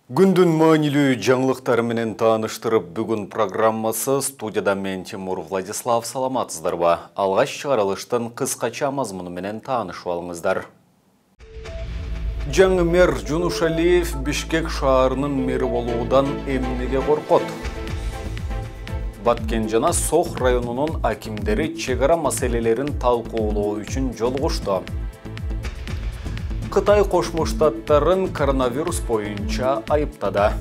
Күндүн маанилүү жаңылыктары менен тааныштырып, бүгүн программасы студияда мен Тимур Владислав. Саламатсыздарбы? Алгаш чыгарылыштын кыскача мазмуну менен таанышып алыңыздар. Жаңы мэр Жунушалиев Бишкек шаарынын мэри болуудан эмнеге коркот? Баткен жана Сох районунун акимдери чек ара маселелерин талкуулоо үчүн жолугушту. Кытай Кошмо Штаттарын коронавирус боюнча айыптады.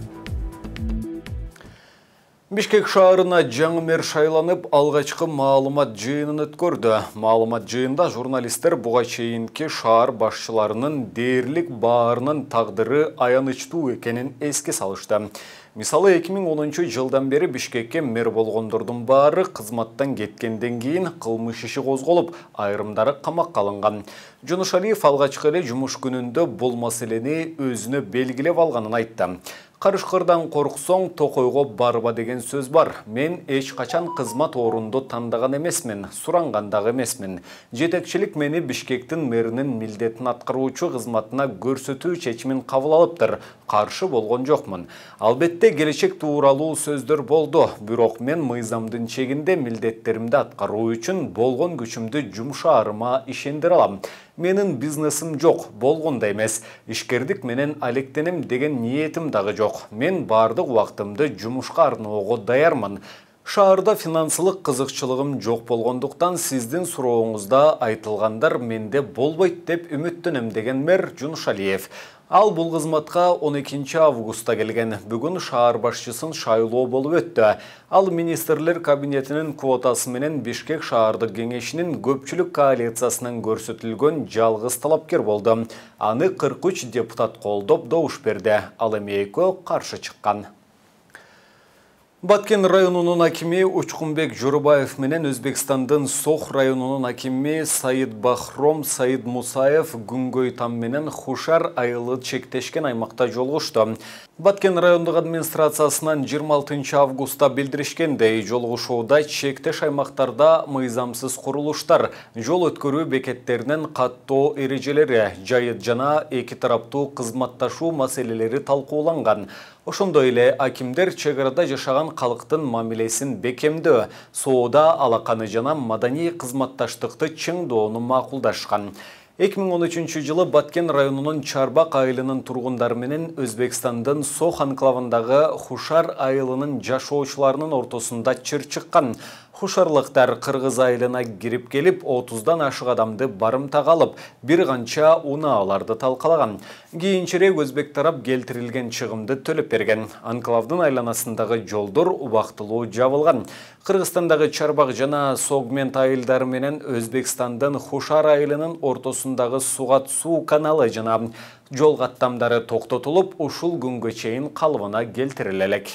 Бишкек шаарына жаңы мэр шайланып, алгачкы маалымат жыйынын өткөрдү. Маалымат жыйында журналисттер буга чейинки шаар башчыларынын дээрлик баарынын тагдыры аянычтуу экенин эске салышты. Мисалы 2010 жылдан бери Бишкекке мэр болгондордун баары кызматтан кеткенден кийин кылмыш иши козголуп, айрымдары камакка алынган. Жунушалиев алгачкы эле жумуш күнүндө бул маселени өзүнө белгилеп алганын айтты. Карышкырдан корксоң, токойго барба деген сөз бар. Мен эч качан кызмат орунду тандаган эмесмин, суранган дагы эмесмин. Жетекчилик мени Бишкектин мэринин милдетин аткаруучу кызматына көрсөтүү чечимин кабыл алыптыр. Каршы болгон жокмун. Албетте келечек тууралуу сөздөр болду. Бирок мен мыйзамдын чегинде милдеттеримди аткаруу үчүн болгон күчүмдү жумшаарыма ишендире алам. Менин бизнесим жок, болгондой эмес. Ишкердик менен алектенем деген ниетим дагы жок. Мен бардык убактымды жумушка арноого даярмын. Шаарда финансылык кызыкчылыгым жок болгондуктан сиздин сурооңузда айтылгандар менде болбойт деп үмүттөнөм деген мэр Жунушалиев. Ал бул кызматка 12 августта келген. Бүгүн шаар башчысын шайлоо болуп өттү. Ал министрлер кабинетинин квотасы менен Бишкек шаардык кеңешинин көпчүлүк коалициясынан көрсөтүлгөн жалгыз талапкер болду. Аны 43 депутат колдоп добуш берди. Ал эми экөө каршы чыккан. Баткен районунун акими Учкунбек Жорубаев менен Өзбекстандын Сох районунун акими Саид Бахром Саид Мусаев күнгөй там менен Хушар айылы чектешкен аймакта жолугушту. Баткен райондук администрациясынан 26 августта билдиришкендей, жолугушууда чектеш аймактарда мыйзамсыз курулуштар, жол өткөрүү бекеттеринин каттоо эрежелери, жайыт жана эки тараптуу кызматташуу маселелери талкууланган. Ошондой эле акимдер чек арада жашаган калктын мамилесин бекемдөө, соода алаканы жана маданий кызматташтыкты чыңдоону макулдашкан. 2013 жылы Баткен районунун Чарбак айылынын тургундары менен Өзбекстандын Сох анклавындагы Хушар айылынын жашоочуларынын ортосунда чыр чыккан. Хушарлыктар Кыргыз айылына кирип келип, 30дан ашык адамды барымтага алып, бир канча унааларды талкалаган. Кийинчерээк өзбек тарап келтирилген чыгымды төлөп берген. Анклавдын айланасындагы жолдор убактылуу жабылган. Кыргызстандагы Чарбак жана Согмент айылдары менен Өзбекстандын Хушар айылынын ортосундагы Сугат суу каналы жана жол каттамдары токтотулуп, ушул күнгө чейин калыбына келтириле элек.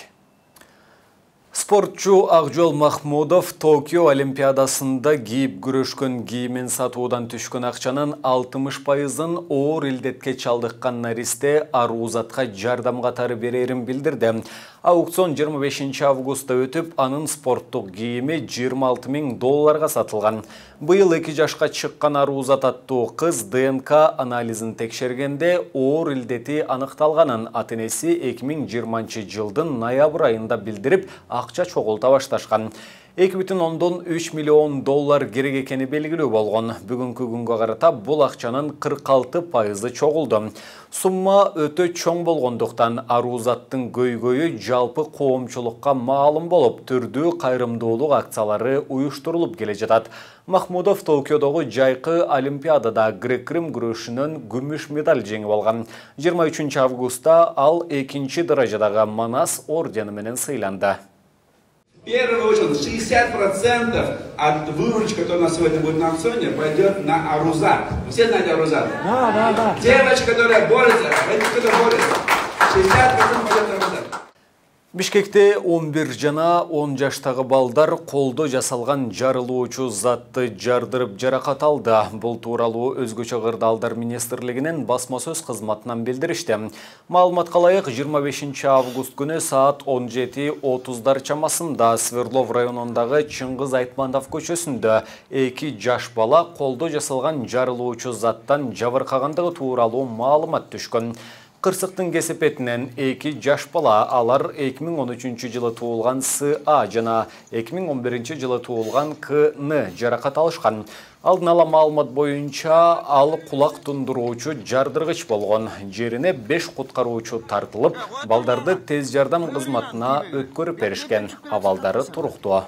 Спортчу Акжол Махмудов Токио Олимпиадасында кийип күрөшкөн кийимин сатуудан түшкөн акчанын 60%-ын оор илдетке чалдыккан наристе Арузатка жардам катары берерин билдирди. Аукцион 25 августта өтүп, анын спорттук кийими $26,000 сатылган. Быйыл 2 жашка чыккан Арузат аттуу кыз ДНК анализин текшергенде оор илдети аныкталганын ата-энеси 2020 жылдын ноябрь айында билдирип, акча чогулта башташкан. $2,3 миллион керек экени белгилүү болгон. Бүгүнкү күнгө карата бул акчанын 46% чогулду. Сумма өтө чоң болгондуктан Арузаттын көйгөйү жалпы коомчулукка маалым болуп, түрдүү кайрымдуулук акциялары уюштурулуп келе жатат. Махмудов Токиодогу жайкы Олимпиадада грек-рим күрөшүнөн күмүш медаль жеңип алган. 23 августта ал 2-чи даражадагы Манас ордени менен сыйланды. В первую очередь 60% от выручки, которая у нас сегодня будет на аукционе, пойдет на Арузат. Вы все знаете Арузат? Да. Девочка, которая борется, родители, которые борются, 60% пойдет на Арузат. Бишкекте 11 жана 10 жаштагы балдар колдо жасалган жарылуучу затты жардырып жаракат алды. Бул тууралуу өзгөчө кырдаалдар министрлигинин басма сөз кызматынан билдиришти. Маалыматка ылайык 25 август күнү саат 17:30 чамасында Сверлов районундагы Чыңгыз Айтманов көчөсүндө 2 жаш бала колдо жасалган жарылуучу заттан жабыркагандыгы тууралуу маалымат түшкөн. Кырсыктын кесепетинен 2 жаш бала, алар 2013 жылы туулган С.А. жана 2011 жылы туулган К.Н. жаракат алышкан. Алдын ала маалымат боюнча ал кулак тундуруучу жардыргыч болгон. Жерине 5 куткаруучу тартылып, балдарды тез жардам кызматына өткөрүп беришкен. Абалдары туруктуу.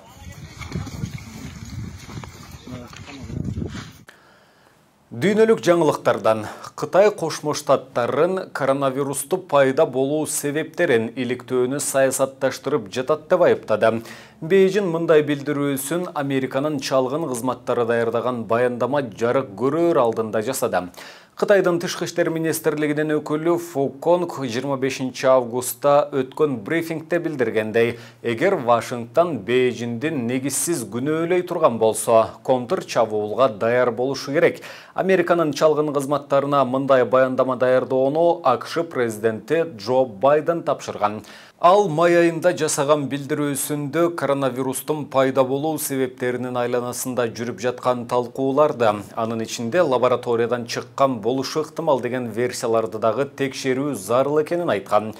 Дүйнөлүк жаңылыктардан Кытай Кошмо Штаттарын коронавирусту пайда болуу себептерин иликтөөнү саясатташтырып жатат деп айыптады. Бейжин мындай билдирүүсүн Американын чалгын кызматтары даярдаган баяндама жарык көрөр алдында жасады. Кытайдын Тышкы иштер министрлигинин өкүлү Фу Конг 25 августта өткөн брифингде билдиргендей, эгер Вашингтон Бейжиндин негизсиз күнөөлөй турган болсо, контр чабуулга даяр болушу керек. Американын чалгын кызматтарына мындай баяндама даярдоону АКШ президенти Джо Байден тапшырган. Ал май айында жасаган билдирүүсүндө коронавирустун пайда болуу себептеринин айланасында жүрүп жаткан талкууларды, анын ичинде лабораториядан чыккан болушу ыктымал деген версияларды дагы текшерүү зарыл экенин айткан.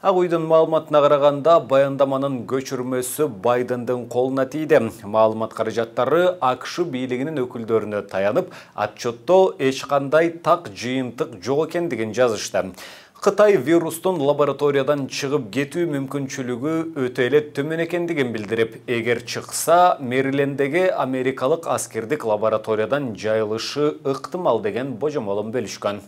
Ак уйдун маалыматына караганда, баяндаманын көчүрмөсү Байдендин колуна тийди. Маалымат каражаттары АКШ бийлигинин өкүлдөрүнө таянып, отчетто эч кандай так жыйынтык жок экендигин жазышты. Кытай вирустун лабораториядан чыгып кетүү мүмкүнчүлүгү өтө эле төмөн экендигин билдирип, эгер чыкса, Мэрилендеги америкалык аскердик лабораториядан жайылышы ыктымал деген божомолун бөлүшкөн.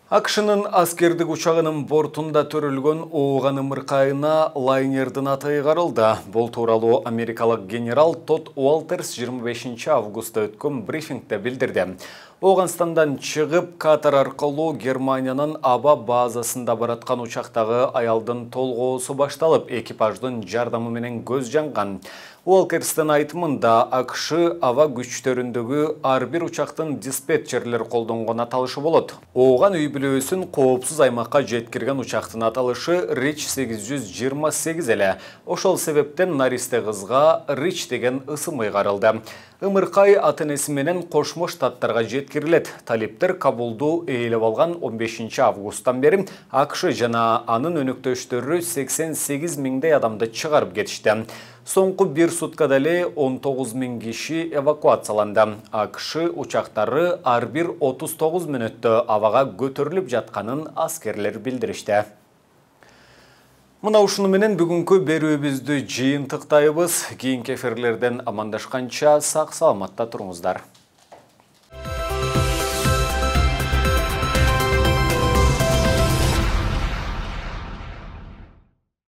АКШнын аскердик учагынын бортунда төрөлгөн ооган ымыркайына лайнердин аты ыйгарылды. Бул тууралуу америкалык генерал Тодд Уолтерс 25 августта өткөн брифингде билдирди. Оганстандан чыгып, Катар аркылуу Германиянын аба базасында бараткан учактагы аялдын толгоосу башталып, экипаждын жардамы менен көз жанган. Уолтерстин айтымында, АКШ аба күчтөрүндөгү ар бир учактын диспетчерлер колдонгон аталышы болот. Ооган үй бүлөсүн коопсуз аймакка жеткирген учактын аталышы Рич 828 эле. Ошол себептен наристе кызга Рич деген ысым ыйгарылды. Ымыркай ата-энеси менен Кошмо Штаттарга жеткирилет. Талиптер Кабулду ээлеп алган 15 августтан бери АКШ жана анын өнөктөштөрү 88 миңдей адамды чыгарып кетишти. Соңку бир суткада эле 19 миң киши эвакуацияланды. АКШ учактары ар бир 39 мүнөттө абага көтөрүлүп жатканын аскерлер билдиришти. Мына ушуну менен бүгүнкү берүүбүздү жыйынтыктайбыз. Кийинки эфирлерден амандашканча сак саламатта туруңуздар.